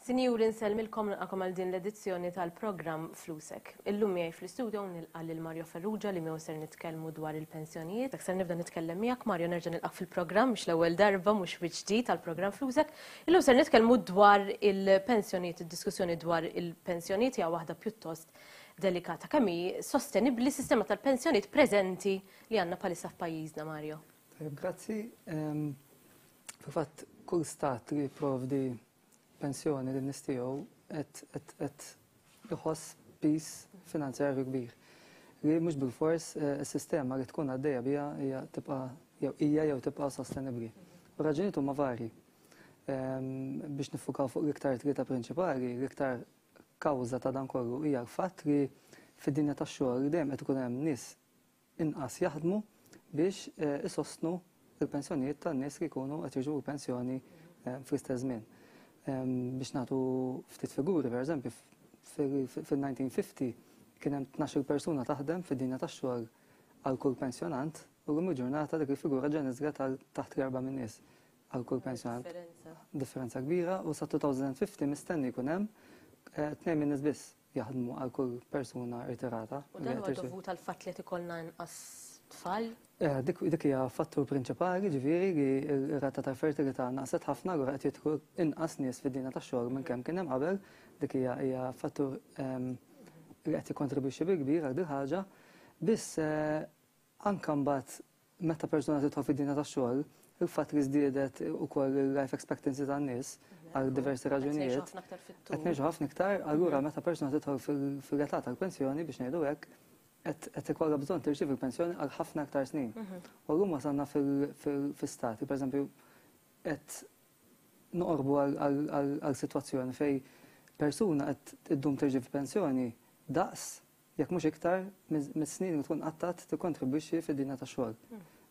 Sinjuri nsellmilkom nilqakom għal din l-edizzjoni tal-programm Flusek. Illum miegħi fl-istudio nilqa' lil Mario Farrugia li miegħu ser nitkellmu dwar il-pensjonijiet. Ser nibda nitkellem miegħek Mario nerġa' nilqak fil-programm mhux l-ewwel darba mhux bi ġdid għall-programm Flusek. Illum ser nitkellmu dwar il-pensjonijiet, id-diskussjoni dwar il-pensjonijiet hija waħda pjuttost delikata. Kemm hi sostenibbli s-sistema tal-pensjonijiet preżenti li għandna bħalissa f'pajjiżna, Mario? Tajjeb, grazzi. Fil-fatt, kull stat li jipprovdi pensjoni lin-nies tiegħu qed iħoss piż finanzjarju kbir. Li mhux bilfors eh, is-sistema li tkun għaddejja biha hija tibqa' jew hija jew tibqa' sostenibbli. U raġunijiet huma varji. Biex nifukaw fuq l-iktar tlieta prinċipali, l-iktar kawża ta' dan kollu hija l-fatt li fid-dinja tax-xogħol dejjem qed ikun hemm nies inqas jaħdmu biex isostnu l-pensjonijiet tan-nies li jkunu qed jirċievu pensjoni fl-istess żmien. Biex nagħtu ftit figuri, pereżempju, fil-1950 kien hemm 12 persuna taħdem fid-dinja tax-xogħol għal kull pensjonant u llum il-ġurnata dik il-figura ġa niżlet għal taħt l-erba' minn nies għal kull pensjonant. Differenza kbira u sa 2050 mistenni jkun hemm eh, tnejn minn nies biss jaħdmu għal kull persuna irtirata. U dan huwa dovut għal fatt li qed ikollna inqas tfal? Eh, dik dik hija fattur prinċipali, ġifieri li r-rata ta' fertilità naqset ħafna allura qed jidħlu inqas nies fid-dinja tax-xogħol minn kemm kien hemm qabel, dik hija hija fattur ehm, li qed jikkontribwixxi bil-kbir għal dil ħaġa. Biss eh, Anke mbagħad meta persuna tidħol fid-dinja tax-xogħol, il-fatt li żdiedet ukoll il-life expectancy tan-nies għal diversi raġunijiet. Qed ngħixu ħafna iktar, allura meta persuna tidħol fil-età tal-pensjoni biex ngħidu hekk, qed ikollha bżonn tirċievi l-pensjoni għal ħafna aktar snin. U llum wasalna fil-stati, pereżempju, qed noqorbu għal sitwazzjoni fejn persuna qed iddum tirċievi pensjoni daqs jekk mhux iktar, mis-snin li tkun qattat tikkontribwixxi fid-dinja tax-xogħol.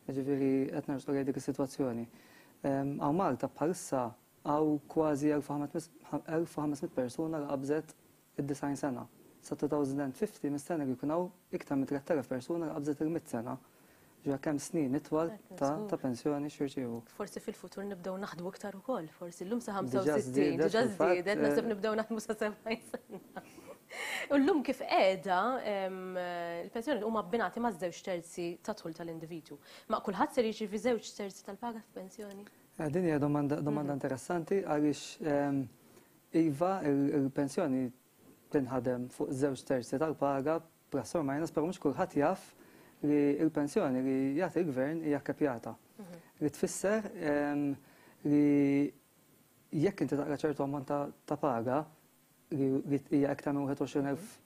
Jiġifieri qed nersqu lejn dik is-sitwazzjoni. Hawn Malta bħalissa hawn kważi 1500 persuna li qabżet id-90 sena. Sa 2050 mistenni li jkun hawn iktar minn 3000 persuna li qabżet il-100 sena. Ġifieri kemm snin itwal ta' pensjoni x'jirċievu. Forsi fil-futur nibdew naħdmu iktar ukoll, forsi llum sa 65, diġà żdiedet, naħseb nibdew naħdmu sa 70 sena. U llum kif qiegħda il-pensjoni huma abbinati ma' żewġ terzi ta' dħul tal-individwu. Ma kulħadd ser jirċievi żewġ terzi tal-paga f'pensjoni? Eh, din hija domanda, domanda mhm. interessanti għaliex iva il-pensjoni tinħadem fuq żewġ terzi tal-paga plus or minus, però mhux kulħadd jaf li l-pensjoni li jagħti l-gvern hija kkepjata. Mhm. Li tfisser li jekk inti taqra ċertu ammont ta' paga li hija iktar minn 21,000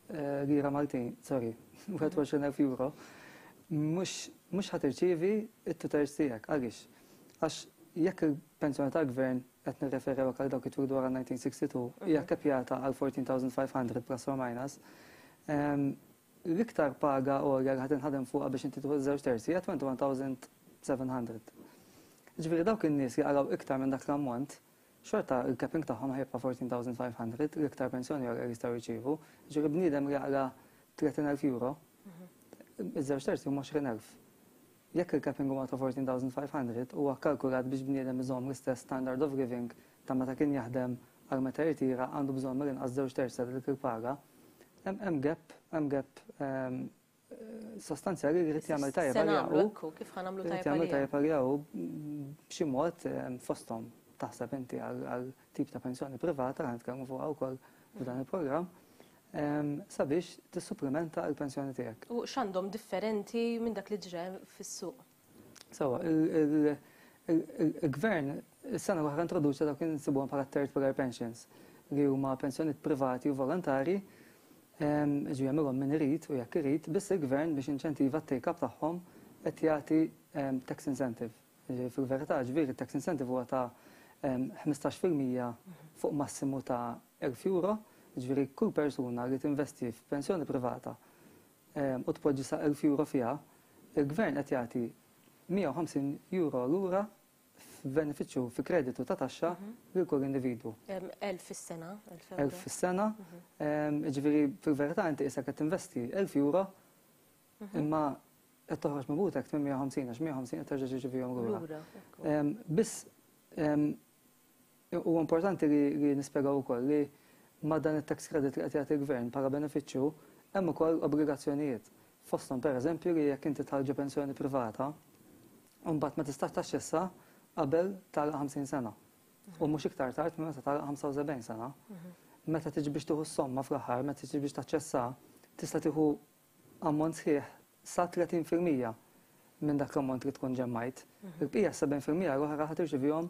eh, lira Maltin, sorry, 21,000 euro, mhux ħa tirċievi it-two thirds tiegħek. Għaliex? Għax jekk il-pensjoni tal-gvern qed nirreferi għal dawk it wara 1962 hija kkepjata għal 14,500 plus or minus, l-iktar paga għolja li ħa tinħadem fuqha biex inti tieħu żewġ terzi hija 21,700. Ġifieri dawk in-nies li qalgħu iktar minn dak l-ammont, xorta il-capping tagħhom ħa jibqa' 14,500, l-iktar pensjoni għolja li jistgħu jirċievu. Ġifieri bniedem li jaqla' 30,000 euro, iż-żewġ terzi huma 20,000. Jekk il-capping huwa ta' 14,500 huwa kkalkulat biex bniedem iżomm l-istess standard of living ta' meta kien jaħdem għal meta jirtira għandu bżonn mill-inqas żewġ terzi ta' dik il-paga. Hemm gap, hemm gap ehm, sostanzjali li jrid jagħmel tajjeb għaliha hu. Kif ħa nagħmlu tajjeb jagħmel tajjeb għaliha hu b'xi mod ehm, fosthom taħseb inti għal tip ta' pensjoni privata li nitkellmu fuqha wkoll f'dan il-programm sabiex tissupplimenta l-pensjoni tiegħek. U x'għandhom differenti minn dak li ġra fis-suq? Sewwa, il-gvern is-sena l-oħra introduċa dawk li nsibuhom bħala third pillar pensions li huma pensjonijiet privati u volontari ġi jagħmilhom min irid u jekk irid, biss il-gvern biex inċentiva t-take up tagħhom qed jagħti tax incentive. Fil-verità, ġifieri tax incentive huwa ta' 15% fuq massimu ta' 1000 euro, ġifieri kull persuna li tinvesti f'pensjoni privata u tpoġġi sa 1000 euro fiha, il-gvern qed jagħti 150 euro lura f'benefiċċju fi kreditu ta' taxxa lil kull individwu. 1000 fis-sena. 1000 fis-sena. Ġifieri fil-verità inti qisek qed tinvesti 1000 euro imma qed toħroġ minn butek 850 għax 150 qed terġa' tirċevihom lura. Biss. Huwa importanti li nispjegaw ukoll li ma' dan it-tax credit li qed jagħti l-gvern bħala benefiċċju hemm ukoll obbligazzjonijiet. Fosthom pereżempju li jekk inti tħall ġo pensjoni privata, mbagħad ma tistax taċċessa qabel tagħlaq 50 sena. U mhux iktar tard minn meta tagħlaq 75 sena. Meta tiġi biex tieħu s-somma fl-aħħar, meta tiġi biex taċċessa, tista' tieħu ammont sħiħ sa 30% minn dak l-ammont li tkun ġemmajt. Il-bqija 70% l-oħra ħa tirċivihom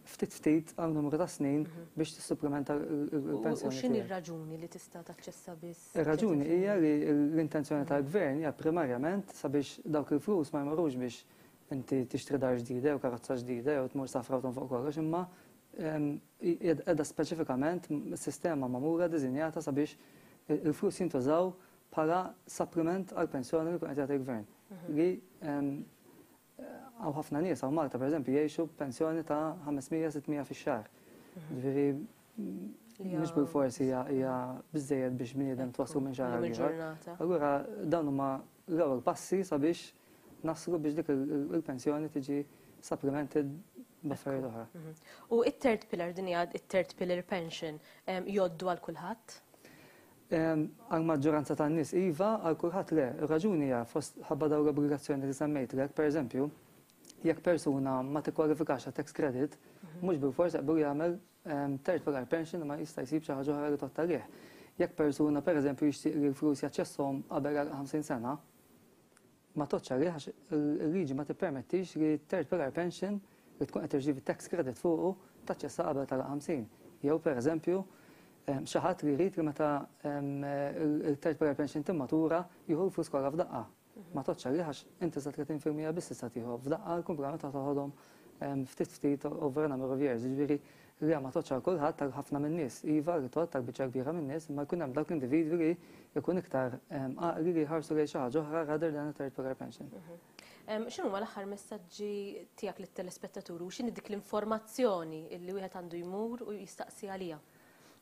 ftit ftit għal numru ta' snin biex tissupplementa l-pensjoni. U x'inhi r-raġuni li tista' taċċessa biss? Ir-raġuni hija li l-intenzjoni tal-gvern hija primarjament sabiex dawk il-flus ma jmorrux biex inti tixtri dar ġdida jew karozza ġdida jew tmur safra u tonfoq kollox, imma qiegħda speċifikament sistema magħmula diżinjata sabiex il-flus jintużaw bħala supplement għall-pensjoni li jkun qed jagħti l-gvern. Li hawn ħafna nies hawn Malta pereżempju jgħixu b'pensjoni ta' 500-600 fix-xahar. Ġifieri mhux bilfors hija biżejjed biex bniedem twasslu minn xahar għal ieħor. Allura dawn huma l-ewwel passi sabiex naslu biex dik il-pensjoni tiġi supplemented b'affarijiet oħra. U it-third pillar din hija it-third pillar pension jgħoddu għal kulħadd? Għall-maġġoranza tan-nies iva, għal kulħadd le. Ir-raġuni hija fost ħabba dawn l-obbligazzjoni li semmejtlek, pereżempju, jekk persuna ma tikkwalifikax għat tax credit, mhux bilfors jaqblu jagħmel third pillar pension imma jista' jsib xi ħaġa oħra li tgħodd għalih. Jekk persuna pereżempju jixtieq li l-flus jaċċesshom qabel għal 50 sena, ma tgħoddx għalih għax il-liġi ma tippermettix li third pillar pension li tkun qed tirċievi tax credit fuqu taċċessa qabel tal-50. Jew pereżempju xi ħadd li jrid li meta il-third pillar pension timmatura jieħu l-flus kollha f'daqqa. Ma tgħoddx għalih għax inti sa 30% biss tista' tieħu f'daqqa l-kumplament ta' toħodhom ftit ftit over a number of years. Ġifieri li ma tgħoddx għal kulħadd għal ħafna min-nies. Iva li tgħodd għal biċċa kbira min-nies, imma jkun hemm dawk l-individwi li jkun iktar għaqli li jħarsu lejn xi ħaġa oħra rather than a third pillar pension. X'inhuma l-aħħar messaġġi tiegħek lit-telespettaturi u x'inhi dik l-informazzjoni li wieħed għandu jmur u jistaqsi għaliha?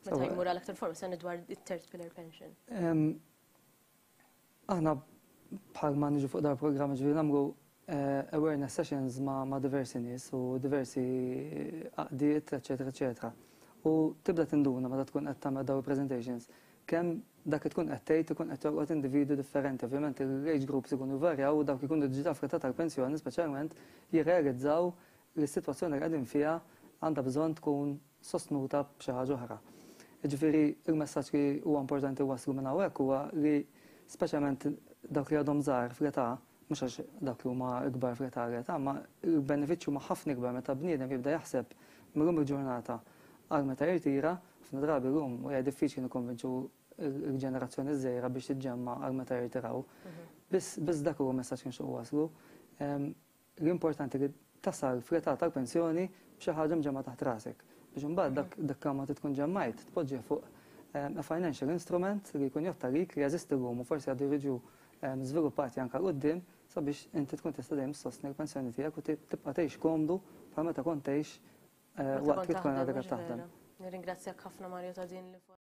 Meta jmur għal aktar informazzjoni dwar it-third pillar pension. Aħna bħal ma niġu fuq dar programm ġifieri nagħmlu awareness sessions ma' diversi nies u diversi għaqdiet, eċetera, eċetera. U tibda tinduna meta tkun qed tagħmel dawn il-presentations kemm dak li tkun qed tgħid ikun qed jolqot individwi differenti. Ovvjament il-age groups ikunu jvarjaw u dawk ikunu diġà fl-età tal-pensjoni speċjalment jirrealizzaw li s-sitwazzjoni li qegħdin fiha għandha bżonn tkun sostnuta b'xi ħaġa oħra. Jiġifieri il-messaġġ li huwa importanti waslu minn hawnhekk huwa li speċjalment dawk li għadhom żgħar fl-età, mhux għax dawk li huma ikbar fl-età l-età, ma l-benefiċċju huma ħafna ikbar meta bniedem jibda jaħseb mill-lum il-ġurnata għal meta jirtira, ħafna drabi llum hija diffiċli nikkonvinċu l-ġenerazzjoni żgħira biex tiġġemma għal meta jirtiraw. Biss biss dak huwa messaġġ kien xogħol waslu. L-importanti li tasal fl-età tal-pensjoni b'xi ħaġa mġemma taħt rasek. Biex imbagħad dak dak ma tkun ġemmajt tpoġġih fuq a financial instrument li jkun jgħodd għalik li jeżisti llum u forsi għadu jiġu żviluppati anke 'l quddiem sabiex inti tkun tista' dejjem ssostni l-pensjoni tiegħek u tibqa' tgħix komdu bħal meta kont tgħix waqt li tkun għadek qed taħdem. Nirringrazzjak ħafna Mario ta' din l